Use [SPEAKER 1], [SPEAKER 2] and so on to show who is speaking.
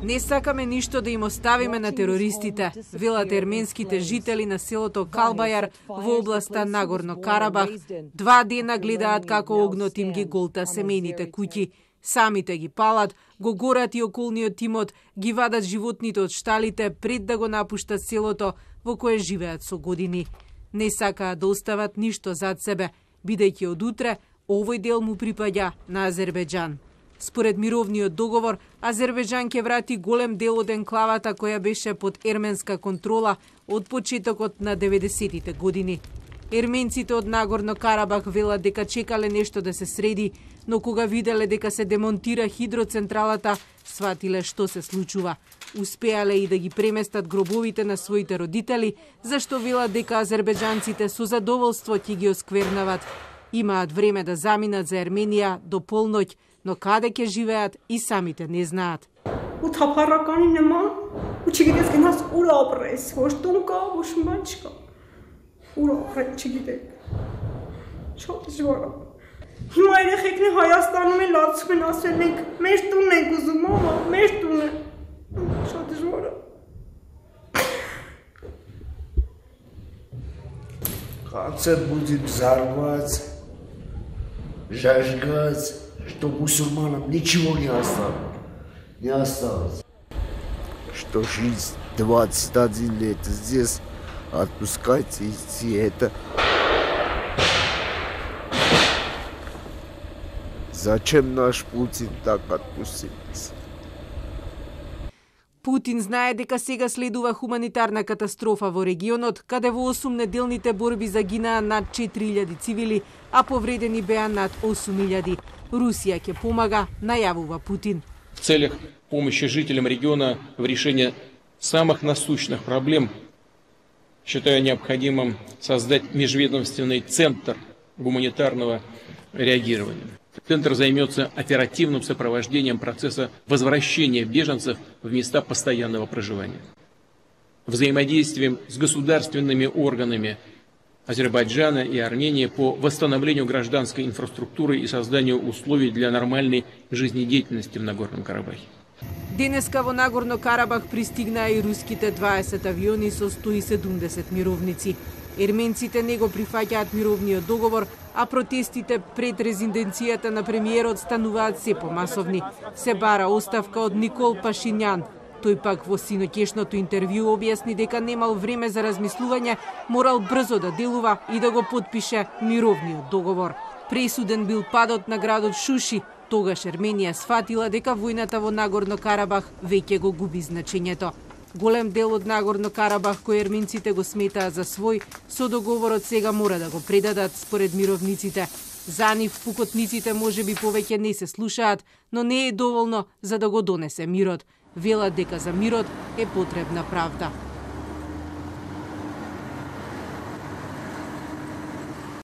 [SPEAKER 1] Не сакаме ништо да им оставиме на терористите, велат ерменските жители на селото Калбајар во областа Нагорно Карабах. 2 дена гледаат како огнот им ги голта семејните куќи. Самите ги палат, го горат и околниот имот, ги вадат животните од шталите пред да го напуштат селото во кое живеат со години. Не сакаат да остават ништо зад себе, бидејќи од утре овој дел му припаѓа на Азербејџан. Според мировниот договор, Азербејџан ќе врати голем дел од енклавата која беше под ерменска контрола од почетокот на 90-тите години. Ерменците од Нагорно Карабах велат дека чекале нешто да се среди, но кога виделе дека се демонтира хидроцентралата, сватиле што се случува. Успеале и да ги преместат гробовите на своите родители, зашто велат дека азербејџанците со задоволство ќе ги осквернават. Имаат време да заминат за Ерменија до полноќ, но каде ќе живеат и самите не знаат.
[SPEAKER 2] У թափառականի նման ու չգիտես գնաս ուր ապրես, ոչ տուն կա, ոչ ման չկա։ Ուր ապրես չգիտեք։ Շատ դժվար է։ Հիմա երեխեքն Հայաստանում են լացում են ասել ենք, մեր տունն ենք ուզում, մամա, մեր տունը։ Շատ դժվար է։
[SPEAKER 3] Концерт будет взорвать, зажигать, что мусульманам ничего не осталось. Не осталось. Что жизнь 21 лет здесь, отпускайте идти, это... Зачем наш Путин так отпустил?
[SPEAKER 1] Путин знае дека сега следува хуманитарна катастрофа во регионот, каде во 8-неделните борби загинаа над 4000 цивили, а повредени беа над 8000. Русија ќе помага, најавува Путин.
[SPEAKER 4] В целях помощи жителям региона в решении самых насущных проблем считаю необходимым создать межведомственный центр гуманитарного реагирования. Центр займется оперативным сопровождением процесса возвращения беженцев в места постоянного проживания, взаимодействием с государственными органами Азербайджана и Армении по восстановлению гражданской инфраструктуры и созданию условий для нормальной жизнедеятельности в Нагорном Карабахе.
[SPEAKER 1] Денеска во Нагорно Карабах пристигнаа и руските 20 авиони со 170 мировници. Ерменците не го прифаќаат мировниот договор, а протестите пред резиденцијата на премиерот стануваат се помасовни. Се бара оставка од Никол Пашињан. Тој пак во синоќешното интервју објасни дека немал време за размислување, морал брзо да делува и да го потпише мировниот договор. Пресуден бил падот на градот Шуши. Тогаш Ерменија сфатила дека војната во Нагорно Карабах веќе го губи значењето. Голем дел од Нагорно Карабах кој ерменците го сметаат за свој, со договорот сега мора да го предадат според мировниците. За нив пукотниците можеби повеќе не се слушаат, но не е доволно за да го донесе мирот. Велат дека за мирот е потребна правда.